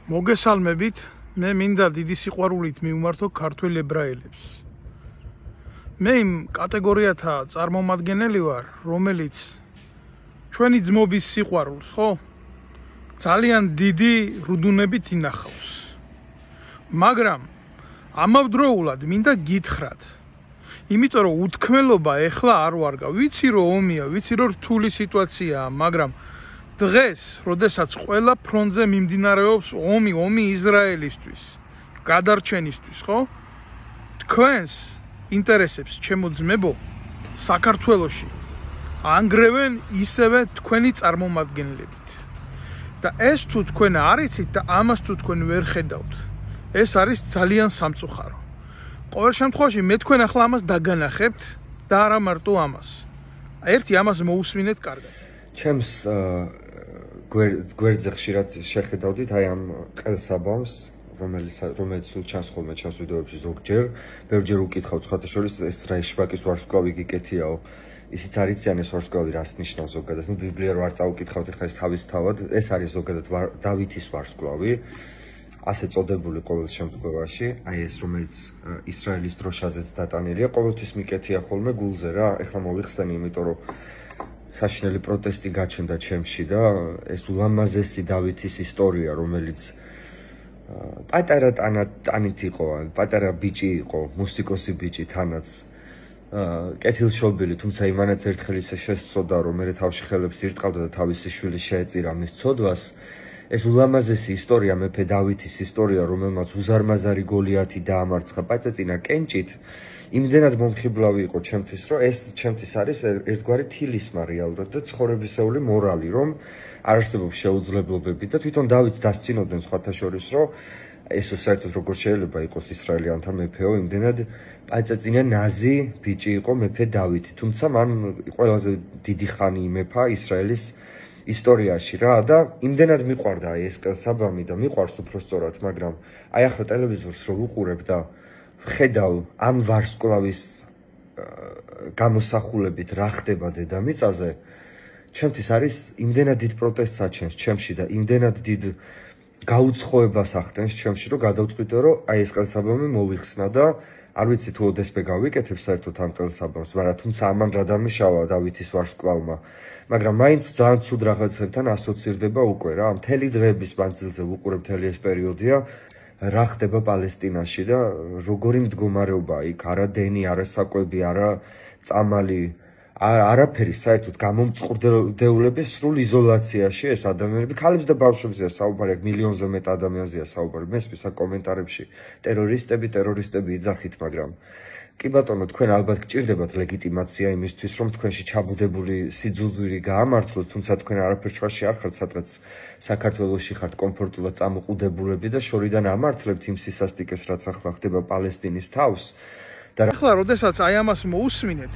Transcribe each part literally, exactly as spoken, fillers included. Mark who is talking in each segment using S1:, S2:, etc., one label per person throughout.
S1: მოგესალმებით, მე მინდა დიდი სიყვარულით მივმართო ქართველ ებრაელებს. მე იმ კატეგორიათა წარმომადგენელი ვარ, რომელიც ჩვენი ძმობის სიყვარულს, ხო? ძალიან დიდი რუდუნებით ინახავს. მაგრამ ამავდროულად მინდა გითხრათ, იმიტომ რომ უთქმელობა ეხლა არ ვარგა. ვიცი რომ ომია, ვიცი რომ რთული სიტუაციაა, მაგრამ დღეს, როდესაც ყველა ფრონტზე მიმდინარეობს ომი, ომი ისრაელისთვის, გადარჩენისთვის, ხო? თქვენს ინტერესებს, ჩემო ძმებო, საქართველოში ანგრევენ ისევე თქვენი წარმომადგენლებით. და ეს თუ თქვენ არ იცით და ამას თუ თქვენ ვერ ხედავთ, ეს არის ძალიან სამწუხარო. ყოველ შემთხვევაში მე თქვენ ახლა ამას დაგანახებთ და არა მარტო ამას. ერთი ამას მოусმინეთ კარგად.
S2: ჩემს გვერდზე ხშირად შეხედავდით აი ამ ყელსაბამს, რომელიც რომელიც სულ ჩანს ხოლმე ჩემს ვიდეოებში ზოგჯერ, ბევრჯერ უკითხავ სხვათა შორის ეს რა შვაკის ვარსკვლავი გიკეთიაო. ისიც არ იციან ეს ვარსკვლავი რას ნიშნავს ზოგადად. ნუ ბიბლია რო არ წაუკითხავთ ახლა ეს თავისთავად, ეს არის ზოგადად დავითის ვარსკვლავი. ასე წოდებული ყოველ შემთხვევაში, აი ეს რომელიც ისრაელის დროშაზეც დატანილია, ყოველთვის მიკეთია ხოლმე გულზე რა. ეხლა მოვიხსენი, იმიტომ რომ საშინელი პროტესტი გაჩნდა ჩემში და ეს ულამაზესი დავითის ისტორია, რომელიც პატარა ტანით იყო, პატარა ბიჭი იყო, მუსიკოსი ბიჭი თანაც კეთილშობილი, თუმცა იმანაც ერთხელ ისე შესწოდა, რომ მე თავში ხელებს ირტყავდა და თავისი შვილი შეეწირა მის ცოდვას. ეს ულამაზესი ისტორია, მეფე დავითის ისტორია, რომელმაც უზარმაზარი გოლიათი დაამარცხა პაწეწინა კენჭით, იმდენად მომხიბლავი იყო ჩემთვის, რომ ეს ჩემთვის არის ერთგვარი თილისმა რეალურად და ცხოვრებისეული მორალი, რომ არ არსებობს შეუძლებლობები და თვითონ დავითს დასცინოდნენ სხვათა შორის, რომ ეს საერთოდ როგორ შეიძლება იყოს ისრაელიანთა მეფეო, იმდენად პაწეწინა ნაზი ბიჭი იყო მეფე დავითი, თუმცა მან ყველაზე დიდი ხანი იმეფა ისრაელის ისტორიაში რა და იმდენად მიყვარდა აი ეს ყელსაბამი და მიყვარს უბრალოდ, მაგრამ აი ახლა ტელევიზორს რო ვუყურებ და ხედავ ამ ვარსკვლავის გამოსახულებით რა ხდება დედამიწაზე, ჩემთვის არის იმდენად დიდ პროტესტს აჩენს ჩემში და იმდენად დიდ გაუცხოებას ახდენს ჩემში, რომ გადავწყვიტე, რომ აი ეს ყელსაბამი მოვიხსნა და არ ვიცი თუ ოდესმე გავიკეთებ საერთოდ ამ ყელსაბამს, მაგრამ თუმცა ამან რა დამიშავა დავითის ვარსკვლავმა, მაგრამ მაინც ძალიან ცუდ რაღაცებთან ასოცირდება უკვე რა. მთელი დღეების მანძილზე ვუყურებ მთელი ეს პერიოდია რა ხდება პალესტინაში და როგორი მდგომარეობაა იქ, არა დენი, არა საკვები, არა წამალი, არაფერი საერთოდ გამომწყურდეულების სრულ იზოლაციაში ეს ადამიანები, ქალებს და ბავშვებზეა საუბარი, მილიონზე მეტ ადამიანზეა საუბარი. მესმის კომენტარებში ტერორისტები, ტერორისტები იძახით, მაგრამ კი ბატონო, თქვენ ალბათ გჭირდებათ ლეგიტიმაცია იმისთვის, რომ თქვენში ჩაბუდებული სიძულვირი გაამართლოს, თუმცა თქვენ არაფერ ჩვაში არ ხართ, სადღაც საქართველოში ხართ კომფორტულად წამოყუდებულები და შორიდან ამართლებთ იმ სისასტიკეს, რაც ახლა ხდება პალესტინის თავს.
S1: და ახლა, როდესაც აი ამას მოусმინეთ,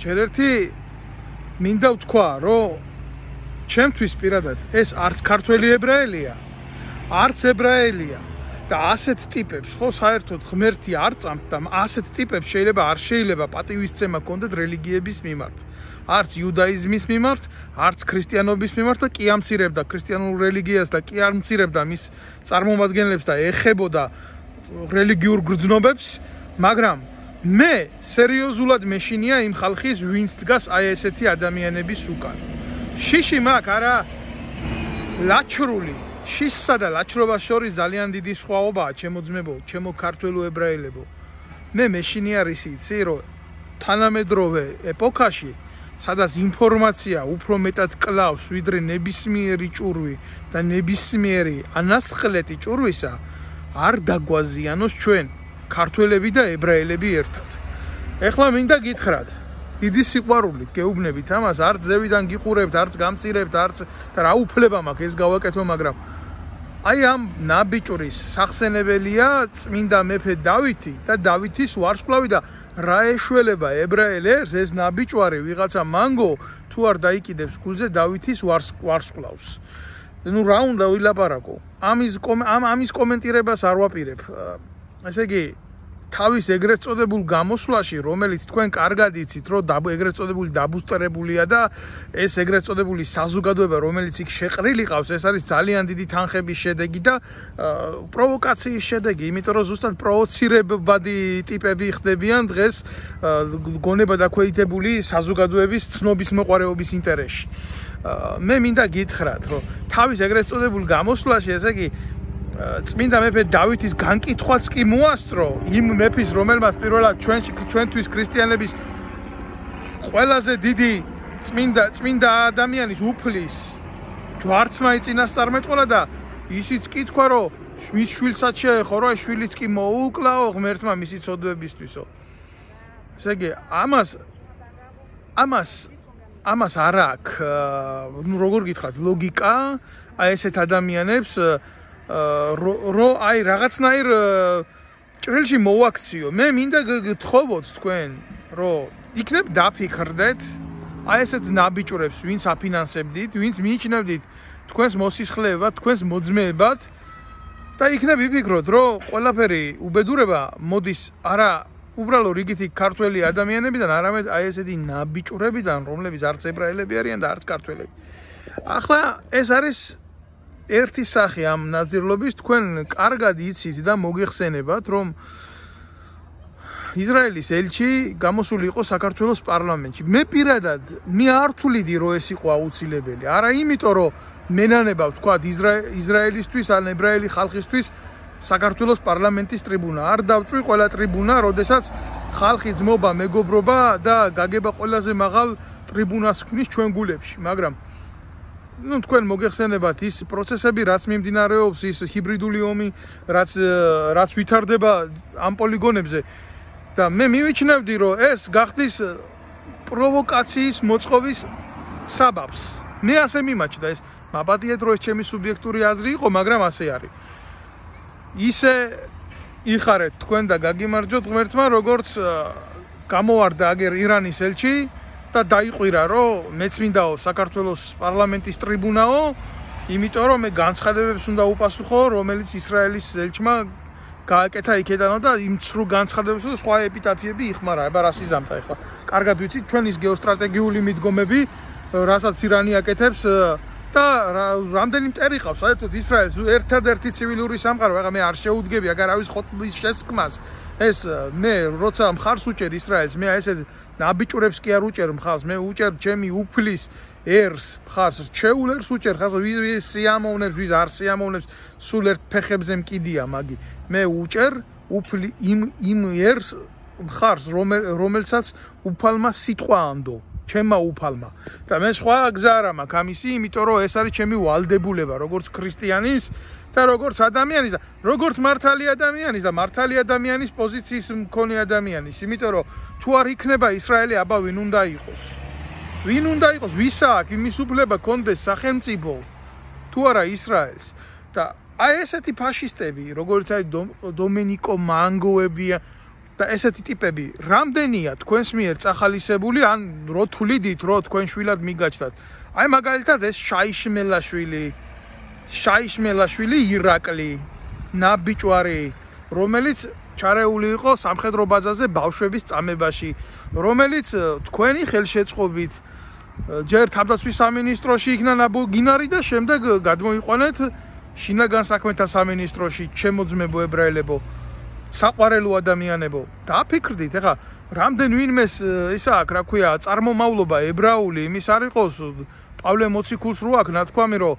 S1: ჯერ ერთი მინდა ვთქვა, რომ ჩემთვის პირადად ეს არც ქართველი ებრაელია, არც ებრაელია. და ასეთ ტიპებს, ხო, საერთოდ ღმერთი არ წამთ და ასეთ ტიპებს შეიძლება არ შეიძლება პატივისცემა კონდეთ რელიგიების მიმართ. არც იუდაიზმის მიმართ, არც ქრისტიანობის მიმართ და კი ამცირებდა ქრისტიანულ რელიგიას და კი არ მცირებდა მის წარმომადგენლებს და ეხებოდა რელიგიურ გრძნობებს, მაგრამ მე სერიოზულად მეშინია იმ ხალხის, ვინც დგას აი ესეთი ადამიანების უკან. შიში მაქვს არა ლაჩრული შისსა და ლაჩრობას შორის ძალიან დიდი სხვაობაა, ჩემო ძმებო, ჩემო ქართველო ებრაელებო. მე მეშინია რისი იცი, რომ თანამედროვე ეპოქაში, სადაც ინფორმაცია უფრო მეტად კლავს, ვიდრე ნებისმიერი ჭურვი და ნებისმიერი ანასხლეტი ჭურვისა, არ დაგვაზიანოს ჩვენ, ქართველები და ებრაელები ერთად. ეხლა მინდა გითხრათ, დიდი სიყვარულით გეუბნებით ამას, არც ზევიდან გიყურებთ, არც გამწირებთ, არც და რა უფლება მაქვს ეს გავაკეთო, მაგრამ აი ამ ნაბიჭურის სახსენებელია წმინდა მეფე დავითი და დავითის ვარსკვლავი და რა ეშველება ებრაელებს ეს ნაბიჭვარი ვიღაცა მანგო თუ არ დაიკიდებს გულზე დავითის ვარსკვლავს. ნუ რა უნდა ვილაპარაკო? ამის ამ ამის კომენტირებას არ ვაპირებ. ესე იგი თავის ეგრეთ წოდებულ გამოსვლაში, რომელიც თქვენ კარგად იცით, რომ ეგრეთ წოდებული დაბუსტერებულია და ეს ეგრეთ წოდებული საზოგადოება, რომელიც იქ შეყრილი ყავს, ეს არის ძალიან დიდი თანხების შედეგი და პროვოკაციის შედეგი, იმიტომ რომ ზუსტად პროვოცირებადი ტიპები ხდებიან დღეს გონება დაქვეითებული საზოგადოების ცნობის მოყვარეობის ინტერესში. მე მინდა გითხრათ, რომ თავის ეგრეთ წოდებულ გამოსვლაში, ესე იგი წმინდა მეფე დავითის განკითხვაც კი მოასწრო იმ მეფის, რომელმაც პირველად ჩვენ ჩვენთვის ქრისტიანების ყველაზე დიდი წმინდა წმინდა ადამიანის უფლის ჯვარცმა იწინასწარმეტყველა და ისიც კი თქვა, რომ მის შვილსაც შეეხო, რომ ეს შვილიც კი მოუკლაო ღმერთმა მისი ცოდვებისთვისო. ესე იგი ამას ამას ამას არ აქვს, ნუ როგორ გითხრათ, ლოგიკა აი ესეთ ადამიანებს რო აი რაღაცნაირ ჭრილში მოვაქციო. მე მინდა გთხოვოთ თქვენ, რომ იქნებ დაფიქრდეთ აი ესეთ ნაბიჭვრებს, ვინც აფინანსებდით, ვინც მიიჩნევდით თქვენს მოსისხლეებად, თქვენს მოძმეებად და იქნებ იფიქროთ, რომ ყველაფერი უბედურება მოდის არა უბრალო რიგითი ქართველი ადამიანებიდან, არამედ აი ესეთი ნაბიჭვრებიდან, რომლებიც არც ებრაელები არიან და არც ქართველები. ახლა ეს არის ერთი სახე ამ ნაძირლობის, თქვენ კარგად იცით და მოგეხსენებათ, რომ ისრაელის ელჩი გამოსული იყო საქართველოს პარლამენტში. მე პირადად მე არ ვთვლიდი, რომ ეს იყო აუცილებელი. არა იმიტომ, რომ მენანება ვთქვათ ისრაელისთვის ან ებრაელი ხალხისთვის საქართველოს პარლამენტის ტრიბუნა. არ დავწვი ყველა ტრიბუნა, როდესაც ხალხი ძმობა, მეგობრობა და გაგება ყველაზე მაღალ ტრიბუნას ქმნის ჩვენ გულებში, მაგრამ ну თქვენ მოგეხსენებათ ის პროცესები, რაც მიმდინარეობს, ის ჰიბრიდული ომი, რაც რაც ვითარდება ამ პოლიგონებზე და მე მივიჩნევდი, რომ ეს გახდის პროვოკაციის მოწყობის საბაბს. მე ასე მიმაჩნდა, ეს მაპატიეთ, რომ ეს ჩემი სუბიექტური აზრი იყო, მაგრამ ასე არის. ისე იხარეთ თქვენ და გაგიმარჯოთ ღმერთმა, როგორც გამოვარდა აგერ ირანის ელჩი და დაიყვირა, რომ მეც მინდაო საქართველოს პარლამენტის ტრიბუნაო, იმიტომ რომ მე განცხადებებს უნდა უპასუხო, რომელიც ისრაელის ელჩმა გააკეთა იქედანო და იმ ცრუ განცხადებებს და სხვა ეპიტაფიები იხმარა. აბა რას იზამთრა ახლა? კარგად ვიცით ჩვენ ის გეოსტრატეგიული მიდგომები, რასაც ირანი აკეთებს და რამდენი მტერი ყავს საერთოდ ისრაელს ერთადერთი ცივილური სამყარო. ახლა მე არ შეუდგები აგარავის ხოტბის შესკმას. ეს მე როცა მხარს უჭერ ისრაელს, მე აი ესეთ ნაბიჭვრებს კი არ უჭერ მხარს, მე უჭერ ჩემი უფლის ერს მხარს, რჩეულ ერს უჭერ ხას, ვის სიამოვნებს, ვის არ სიამოვნებს, სულ ერთ ფეხებზე მკიდია მაგი. მე უჭერ უფლი იმ იმ ერს მხარს, რომელსაც უფალმა სიტყვა ანდო, ჩემმა უფალმა. და მე სხვა გზა არ მაქვს ამისი, იმიტომ რომ ეს არის ჩემი ვალდებულება, როგორც ქრისტიანის და როგორც ადამიანის და როგორც მართალი ადამიანის და მართალი ადამიანის პოზიციის მქონე ადამიანის, იმიტომ რომ თუ არ იქნება ისრაელი, აბა ვინ უნდა იყოს? ვინ უნდა იყოს? ვის აქვს იმის უფლება კონდეს სახელმწიფო თუ არა ისრაელს? და აი ესეთი ფაშისტები, როგორც აი დომენიკო მანგოებია და ესეთი ტიპები, რამდენია თქვენს მიერ წახალისებული, ან რო თვლიდით, რომ თქვენ შვილად მიგაჩნდათ. აი მაგალითად ეს შაიშმელაშვილი შაიშმელაშვილი ირაკლი, ნაბიჭვარი, რომელიც ჩარეული იყო სამხედრო ბაზაზე ბავშვების წამებაში, რომელიც თქვენი ხელშეწყობით ჯერ თავდაცვის სამინისტროში იქნა ნაბოგინარი და შემდეგ გადმოიყვანეთ შინაგან საქმეთა სამინისტროში, ჩემოძმებო ებრაელებო, საყვარელო ადამიანებო. დააფიქრდით, ეხა რამდენ ვინმეს ისა აქვს, რა ქვია, წარმომავლობა ებრაული, იმის არ იყოს პავლე მოციქულს რო აქვს ნათქვამი, რომ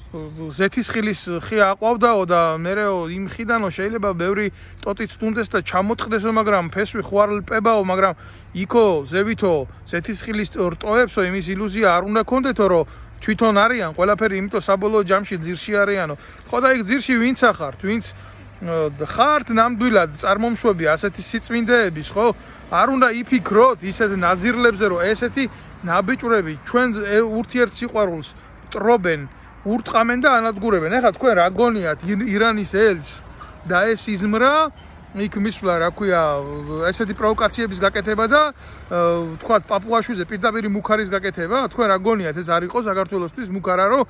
S1: ზეთისხილის ხე აყვავდაო და მერეო იმ ხიდანო შეიძლება ბევრი ტოტიც თუნდეს და ჩამოწყდესო, მაგრამ ფესვი ხوارლპებაო, მაგრამ იქო ზევითო ზეთისხილის რტოებსო, იმის ილუზია არ უნდა გქონდეთო, რომ თვითონ არიან ყველაფერი, იმიტომ საბოლოო ჯამში ძირში არიანო. ხო და იქ ძირში ვინც ახართ, ვინც ხართ ნამდვილად წარმომშვები ასეთი სიწმინდეების, ხო? არ უნდა იფიქროთ ისეთ ნაძირლებზე, რომ ესეთი ნაბიჭვრები ჩვენ ურთიერთსიყვარულს ტრობენ, ურტყამენ და ანადგურებენ. ეხლა თქვენ რა გონიათ ირანის ელჩს და ეს იზმრა იქ მისვლა, რა ქვია, ესეთი პროვოკაციების გაკეთება და თქვათ პაპუაშვილზე პირდაპირ მუქარის გაკეთება, თქვენ რა გონიათ ეს არ იყო საქართველოსთვის მუქარა, რომ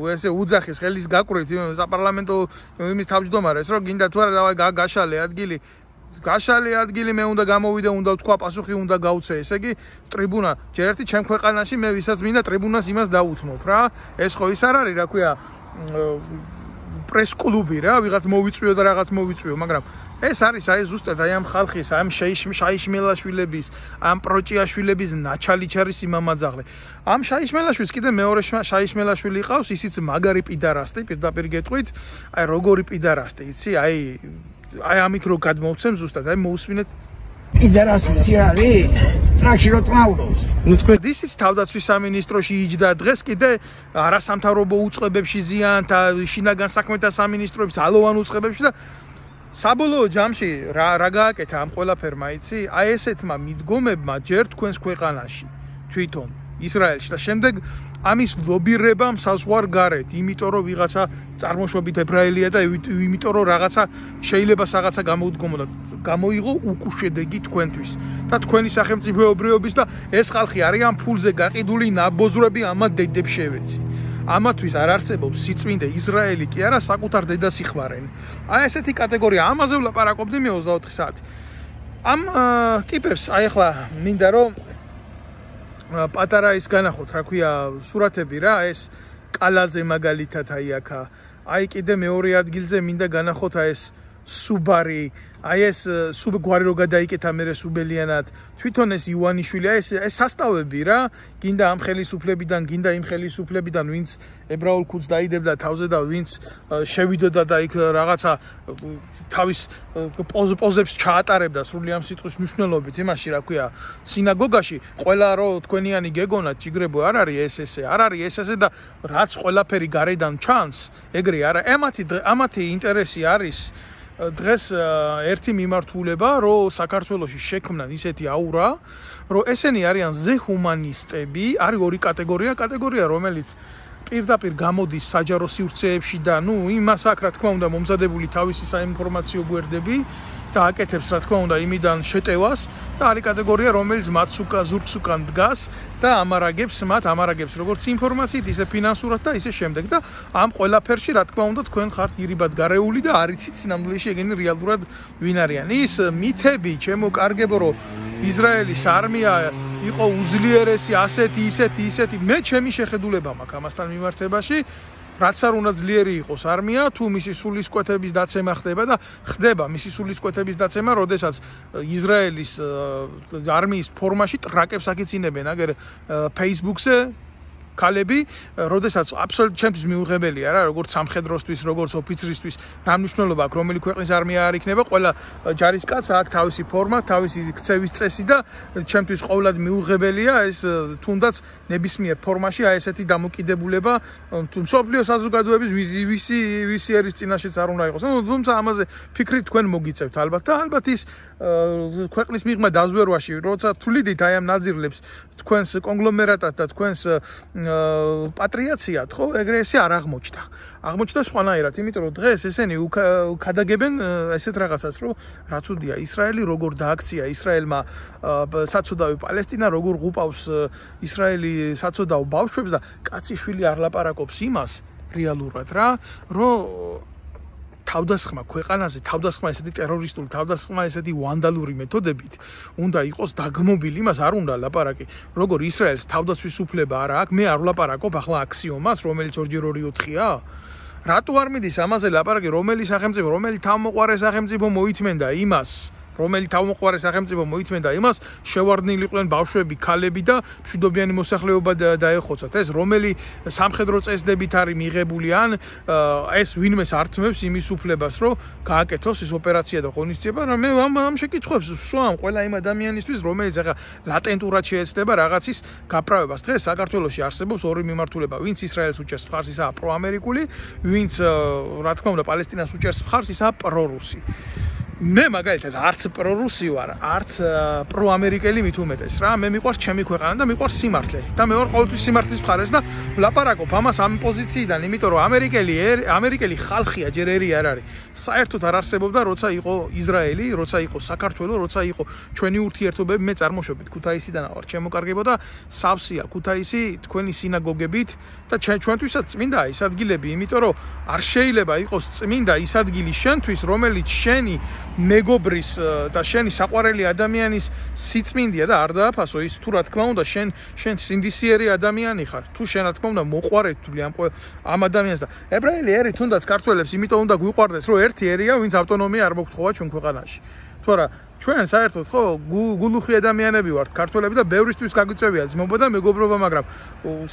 S1: ესე უძახის ხელის გაკვრით საპარლამენტო იმის თავმჯდომარეს, რომ გინდა თუ არა დავაი გაშალე ადგილი. გაშალი ადგილი მე უნდა გამოვიდე, უნდა ვთქვა, პასუხი უნდა გავცე. ესე იგი, ტრიბუნა, ჯერ ერთი ჩემ ქვეყანაში მე ვისაც მინდა ტრიბუნას იმას დავუთმობ რა. ეს ხო ის არ არის, რა ქვია, პრეს კლუბი რა, ვიღაც მოვიწვიო და რაღაც მოვიწვიო, მაგრამ ეს არის აი ზუსტად აი ამ ხალხის, ამ შაიშმელაშვილების, ამ პროჭიაშვილების ნაჩალიჩარის იმამაძაღლე. ამ შაიშმელაშვილს კიდე მეორე შაიშმელაშვილი ყავს, ისიც მაგარი პიდარასტი, პირდაპირ გეტყვით, აი როგორი პიდარასტი, იცი, აი აი ამით რო გადმოვცემ ზუსტად, აი მოусმინეთ
S3: პიდარასტი იცი არის? ტრაქში რო ტრავლობს.
S1: ნუ თქვენ ისიც თავდაცვის სამინისტროში იჯდა დღეს კიდე არასამთავრობო უწყებებში ზიანთა, შინაგან საქმეთა სამინისტროების ალოვან უწყებებში და საბოლოო ჯამში რა რა გააკეთა ამ ყველაფერმა, იცი? აი ესეთმა მიდგომებმა ჯერ თქვენს ქვეყანაში თვითონ ისრაელში და შემდეგ ამის ლობირებამ საზღვარ გარეთ, იმიტომ რომ ვიღაცა წარმოშობით ებრაელია და იმიტომ რომ რაღაცა შეიძლება რაღაცა გამოუდგომოდა, გამოიღო უკუშედეგი თქვენთვის და თქვენი სახელმწიფოებრიობის და ეს ხალხი არიან ფულზე გაყიდული ნაბოზრები ამათ დედებს შევეცი. ამათვის არ არსებობს სიწმინდე ისრაელი კი არა საკუთარ დედას იხმარენ. აი ესეთი კატეგორია, ამაზე ვლაპარაკობდი მე ოცდაოთხი საათი. ამ ტიპებს აი ახლა მინდა რომ პატარა ის განახოთ, რა ქვია, სურათები რა, ეს კალაძე მაგალითად აი აქა. აი კიდე მეორე ადგილზე მინდა განახოთ აი ეს სუბარი, აი ეს სუბ გვარი რო გადაიკეთა მერე სუბელიანად, თვითონ ეს ივანიშვილი, აი ეს ეს სასტავები რა, გინდა ამ ხელისუფლებიდან, გინდა იმ ხელისუფლებიდან, ვინც ებრაულ ქუდს დაიდებდა თავზე და ვინც შევიდოდა და იქ რაღაცა თავის პოზებს ჩაატარებდა სრული ამ სიტყვის მნიშვნელობით, იმაში რა ქვია, სინაგოგაში, ყველა რო თქვენიანი გეგონათ, ჯიგრებო არ არის ეს ესე, არ არის ეს ესე და რაც ყველაფერი გარედან ჩანს, ეგრე არა, ამათი ამათი ინტერესი არის დღეს ერთი მიმართულება, რომ საქართველოში შექმნან ისეთი აურა, რომ ესენი არიან ზეჰუმანისტები, არის ორი კატეგორია, კატეგორია რომელიც პირდაპირ გამოდის საჯარო სივრცეებში და ნუ იმას აქ რა თქმა უნდა მომზადებული თავისი საინფორმაციო გვერდები და აკეთებს რა თქმა უნდა იმიდან შეტევას და არის კატეგორია რომელიც მათ უკან ზურგს უკან დგას და ამარაგებს მათ ამარაგებს როგორც ინფორმაციით ისე ფინანსურად და ისე შემდეგ და ამ ყველაფერში რა თქმა უნდა თქვენ ხართ ირიბად გარეული და არ იცით სინამდვილეში ეგენი რეალურად ვინ არიან. ის მითები ჩემო კარგებო რომ ისრაელის არმია იყო უძლიერესი ასეთი ისეთი ისეთი მე ჩემი შეხედულება მაქვს ამასთან მიმართებაში რაც არ უნდა ძლიერი იყოს არმია თუ მისი სულისკვეთების დაცემა ხდება და ხდება მისი სულისკვეთების დაცემა როდესაც ისრაელის არმიის ფორმაში ტრაკებს აკიცინებენ აგერ Facebook-ზე ქალები, როდესაც აბსოლუტურად ჩემთვის მიუღებელია რა, როგორც სამხედროსთვის, როგორც ოფიცრისთვის, რა მნიშვნელობა აქვს, რომელი ქვეყნის არმია არ იქნება, ყველა ჯარისკაცს აქვს თავისი ფორმა, თავისი ქცევის წესი და ჩემთვის ყოველად მიუღებელია ეს თუნდაც ნებისმიერ ფორმაში აი ესეთი დამოკიდებულება მსოფლიო საზოგადოების ვისი ვისი ერის წინაშეც არ უნდა იყოს. თუმცა ამაზე ფიქრი თქვენ მოგიწევთ ალბათ და ალბათ ის ქვეყნის მიღმა დაზვერვაში, როცა თვლიდით აი ამ ნაძირლებს თქვენს კონგლომერატად და თქვენს პატრიაციად, ხო, ეგრე ესე არ აღმოჩნდა. აღმოჩნდა სხვანაირად, იმიტომ რომ დღეს ესენი ukadageben ესეთ რაღაცას, რომ რაც უდია ისრაელი როგორ დააქცია ისრაელმა საცოდავი პალესტინა, როგორ ღუპავს ისრაელი საცოდავ ბავშვებს და კაციშვილი არ ლაპარაკობს იმას რეალურად რა, რომ თავდასხმა ქვეყანაზე, თავდასხმა ესეთი ტერორისტული, თავდასხმა ესეთი ვანდალური მეთოდებით უნდა იყოს დაგმობილი, იმას არ უნდა ლაპარაკი. როგორ ისრაელს თავდაცვის უფლება არა აქვს, მე არ ვლაპარაკობ ახლა აქსიომას, რომელიც ორჯერ ორი ოთხია. რატო არ მიდის ამაზე ლაპარაკი, რომელი სახელმწიფო, რომელი თავმოყარე სახელმწიფო მოითმენდა იმას, რომელი თავმოყარე სახელმწიფო მოითმენდა იმას, შევარდნილიყვნენ ბავშვები, ქალები და მშვიდობიანი მოსახლეობა დაეხოცათ. ეს რომელი სამხედრო წესდებით არის მიღებული ან ეს ვინმეს ართმევს იმის უფლებას, რომ გააკეთოს ეს ოპერაცია და ღონისძიება, რომ მე ამ ამ შეკითხვებს ვსვამ ყველა იმ ადამიანისთვის, რომელიც ახლა ლატენტურად შეეცდება რაღაცის გაправებას. დღეს საქართველოში არსებობს ორი მიმართულება, ვინც ისრაელს უჭერს მხარს, ისაა პროამერიკული, ვინც რა თქმა უნდა პალესტინას უჭერს მხარს, ისაა პრორუსი. მე მაგალითად არც პრორუსი ვარ, არც პროამერიკელი მით უმეტეს რა, მე მიყვარს ჩემი ქვეყანა და მიყვარს სიმართლე და მე ვარ ყოველთვის სიმართლის მხარეს და ვლაპარაკობ ამას ამ პოზიციიდან, იმიტომ რომ ამერიკელი ამერიკელი ხალხია ჯერ ერი არ არის. საერთოდ არ არსებობდა, როცა იყო ისრაელი, როცა იყო საქართველო, როცა იყო ჩვენი ურთიერთობები, მე წარმოშობით ქუთაისიდან ვარ, შემოკარგებოდა სავსეა ქუთაისი თქვენი სინაგოგებით და ჩვენთვისაც წმინდა ის ადგილები, იმიტომ რომ არ შეიძლება იყოს წმინდა ის ადგილი შენთვის, რომელიც შენი მეგობრის და შენი საყვარელი ადამიანის სიწმინდია და არ დააფასო ის თუ რა თქმა უნდა შენ შენ სინდისიერი ადამიანი ხარ თუ შენ რა თქმა უნდა მოყვარეთ თვლი ამ ამ ადამიანს და ებრაელი ერი თუნდაც ქართველებს იმიტომ უნდა გვიყვარდეს რომ ერთი ერია ვინც ავტონომია არ მოგთხოვა ჩვენ ქვეყანაში თუ არა ჩვენ საერთოდ ხო გულუხი ადამიანები ვართ ქართველები და ბევრისთვის გაგვიწევია ძმობა და მეგობრობა მაგრამ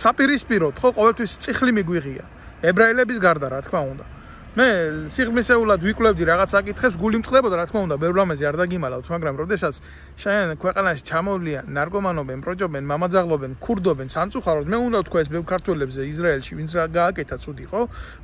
S1: საპირისპიროდ ხო ყოველთვის წიხლი მიგვიღია ებრაელების გარდა რა თქმა უნდა მე სიღრმისეულად ვიკვლევდი რაღაც საკითხებს გული მწყდებოდა რა თქმა უნდა ბევრ რამეზე არ დაგიმალავთ მაგრამ როდესაც შენ ქვეყანაში ჩამოვლიან ნარკომანობენ პროჭობენ მამაძაღლობენ ქურდობენ სამწუხაროდ მე უნდა ვთქვა ეს ბევრ ქართველებზე ისრაელში ვინც რა გააკეთა ცუდი ხო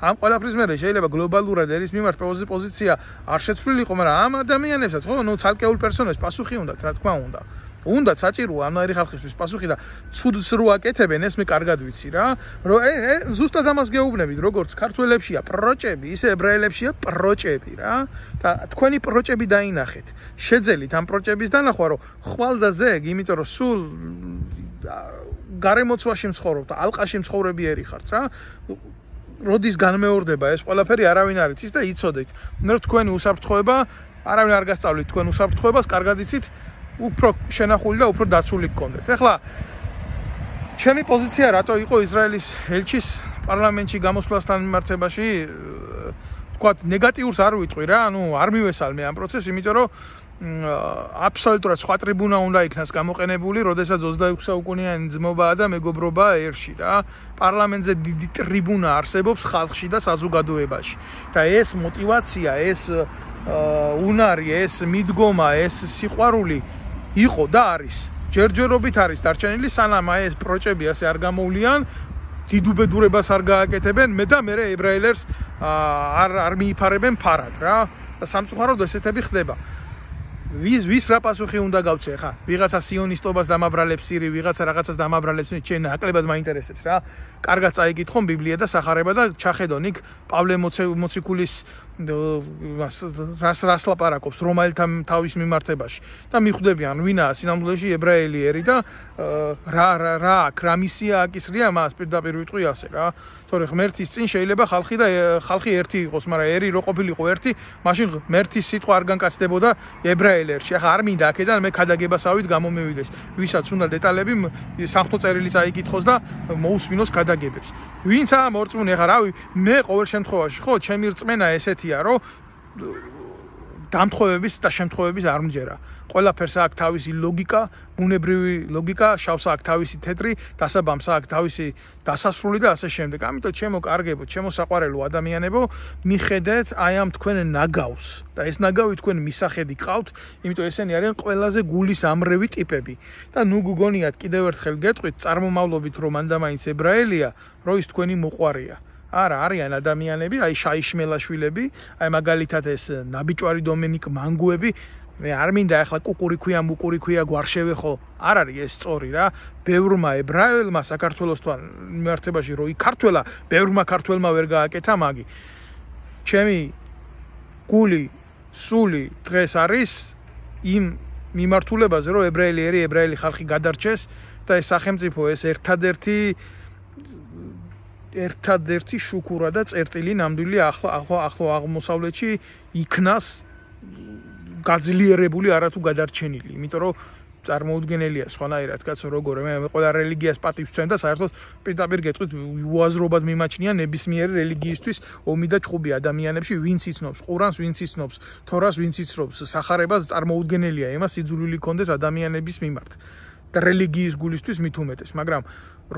S1: ამ ყველაფრის მერე შეიძლება გლობალურად ერის მიმართ პოზიცია არ შეცვლილიყო მაგრამ ამ ადამიანებსაც ხო ნუ ცალკეულ პერსონაჟს პასუხი უნდათ რა თქმა უნდა უნდა საჭიროა ამერი ხალხისთვის პასუხი და ცუდს რო აკეთებენ ეს მე კარგად ვიცი რა რომ ზუსტად ამას გეუბნებით როგორც ქართველებშია პროჭები ისე ებრაელებშია პროჭები რა და თქვენი პროჭები დაინახეთ შეძელით ამ პროჭების დანახვა რომ ხვალ და ზეგ იმიტომ რომ სულ გარემოცვაში მცხოვრობთ და ალყაში მცხოვრებიერი ხართ რა როდის განმეორდება ეს ყველაფერი არავინ არ იცის და იცოდეთ ნუ თქვენი უსაფრთხოება არავინ არ გასწავლით თქვენ უსაფრთხოებას კარგად იცით უფრო შენახული და უფრო დაცული გქონდეთ. ეხლა ჩემი პოზიცია რატო იყო ისრაელის ელჩის პარლამენტში გამოსვლასთან მიმართებაში თქვათ ნეგატიურს არ ვიტყვი რა, ანუ არ მივესალმე ამ პროცესს, იმიტომ რომ აბსოლუტურად სხვა ტრიბუნა უნდა იქნას გამოყენებული, როდესაც ოცდაექვსი საუკუნიანი ძმობაა და მეგობრობა ერში რა. პარლამენტზე დიდი ტრიბუნა არსებობს ხალხში და საზოგადოებაში. და ეს мотиваცია, ეს უნარი, ეს მიდგომა, ეს სიყვარული იყო და არის ჯერჯერობით არის დარჩენილი სანამ ეს პროჭები ასე არ გამოვლიან დიდუბედურებას არ გააკეთებენ მე და მე ებრაელებს არ არ მიიფარებენ ფარად რა და სამწუხაროდ ესეთები ხდება ვის ვის რა პასუხი უნდა გავცე ხა ვიღაცა სიონისტობას დამაბრალებს სირი ვიღაცა რაღაცას დამაბრალებს ჩვენ ნაკლებად მაინტერესებს რა კარგად წაიკითხონ ბიბლია და სახარება და ჩახედონ იქ პავლე მოციქულის რას რას ლაპარაკობს რომაელთა თავის მიმართებაში და მიხვდებიან ვინაა სინამდვილეში ებრაელი ერი და რა რა რა რა მისია აკისრია მას პირდაპირ ვიტყვი ასე რა თორე ღმერთის წინ შეიძლება ხალხი და ხალხი ერთი იყოს მაგრამ ერი რო ყოფილიყო ერთი მაშინ ღმერთის სიტყვა არ განკაცდებოდა ებრაელერში ახლა არ მინდა აქედან მე ქადაგებასავით გამომევიდეს ვისაც უნდა დეტალები სამხტო წერილიც აიკითხოს და მოусმინოს ქადაგებებს ვინც ამ ორწმუნე ახლა რავი მე ყოველ შემთხვევაში ხო ჩემი რწმენა ესეთია რომ დამთხოვების და შემთხვევების არ მჯერა ყველაფერს აქვს თავისი ლოგიკა ბუნებრივი ლოგიკა შავს აქვს თავისი თეთრი დასაბამს აქვს თავისი დასასრული და ასე შემდეგ ამიტომ ჩემო კარგებო ჩემო საყვარელო ადამიანებო მიხედეთ აი ამ თქვენ ნაგავს და ეს ნაგავი თქვენ მისახედი გყავთ იმიტომ ესენი არიან ყველაზე გულის ამრევი ტიპები და ნუ გგონიათ კიდევ ერთხელ გეტყვით წარმომავლობით რომ მანდამაინც ებრაელია რო ის თქვენი მოყვარია არა არიან ადამიანები აი შაიშმელაშვილები აი მაგალითად ეს ნაბიჭვარი დომენიკ მანგუები მე არ მინდა ახლა კუკურიქვია მუკურიქვია გვარშევე ხო არ არის ეს სწორი რა ბევრმა ებრაელმა საქართველოსთან მიმართებაში რო იქართველა ბევრმა ქართველმა ვერ გააკეთა მაგი ჩემი გული სული დღეს არის იმ მიმართულებაზე რომ ებრაელი ერი ებრაელი ხალხი გადარჩეს და ეს სახელმწიფო ეს ერთადერთი ერთადერთი შუქურა და წერტილი ნამდვილი ახლა ახლა აღმოსავლეთში იქნას გაძლიერებული არათუ გადარჩენილი იმიტომ რომ წარმოუდგენელია სხვანაირად კაცო როგორ მე ყველა რელიგიას პატივს ვცემ და საერთოდ პირდაპირ გეტყვით უაზრობად მიმაჩნია ნებისმიერი რელიგიისთვის ომი და ჭუბი ადამიანებში ვინც იცნობს ყურანს ვინც იცნობს თორას ვინც იცნობს სახარებას წარმოუდგენელია იმას სიძულვილი კონდეს ადამიანების მიმართ და რელიგიის გულისთვის მით უმეტეს მაგრამ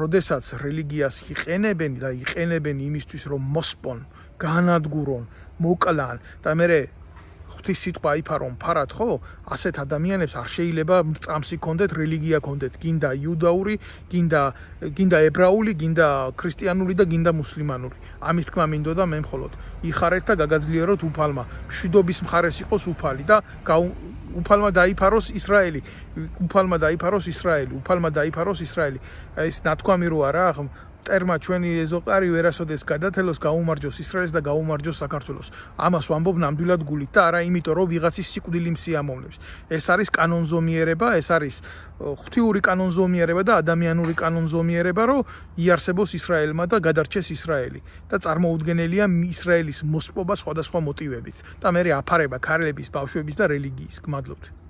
S1: როდესაც რელიგიას იყენებენ და იყენებენ იმისთვის რომ მოსპონ განადგურონ მოკლან და მე ღვთის სიტყვა იფარონ ფარად ხო ასეთ ადამიანებს არ შეიძლება მრწამსი კონდეთ რელიგია კონდეთ გინდა იუდაური გინდა გინდა ებრაული გინდა ქრისტიანული და გინდა მუსლიმანური ამის თქმა მინდოდა მე მხოლოდ იხარეთ და გაგაძლიეროთ უფალმა მშვიდობის მხარეს იყოს უფალი და უფალმა დაიფაროს ისრაელი უფალმა დაიფაროს ისრაელი უფალმა დაიფაროს ისრაელი ეს ნათქვამი რო არა ტერმა ჩვენი ეზოყარი ვერასოდეს გადათელოს გაუმარჯოს ისრაელს და გაუმარჯოს საქართველოს. ამას ვამბობ ნამდვილად გულით და არა იმიტომ რომ ვიღაცის სიკვდილი მსიამოვნებს. ეს არის კანონზომიერება, ეს არის ღვთიური კანონზომიერება და ადამიანური კანონზომიერება, რომ იარსებოს ისრაელმა და გადარჩეს ისრაელი და წარმოუდგენელია ისრაელის მოსპობა სხვადასხვა მოტივებით და მე აფარება ქალების, ბავშვების და რელიგიის. გმადლობთ.